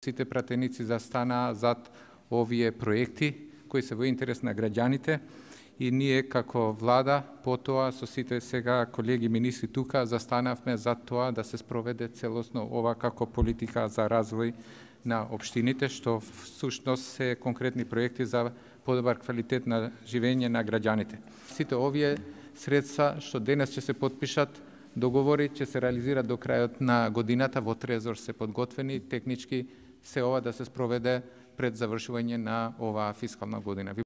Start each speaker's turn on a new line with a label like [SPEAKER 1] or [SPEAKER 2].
[SPEAKER 1] Сите пратеници застана зад овие проекти кои се во интерес на граѓаните и ние како влада потоа со сите сега колеги министри тука застанавме за тоа да се спроведе целосно ова како политика за развој на општините, што всушност се конкретни проекти за подобар квалитет на живење на граѓаните. Сите овие средства што денес ќе се потпишат договори ќе се реализираат до крајот на годината, во Трезор се подготвени, технички се ова да се спроведе пред завршување на оваа фискална година.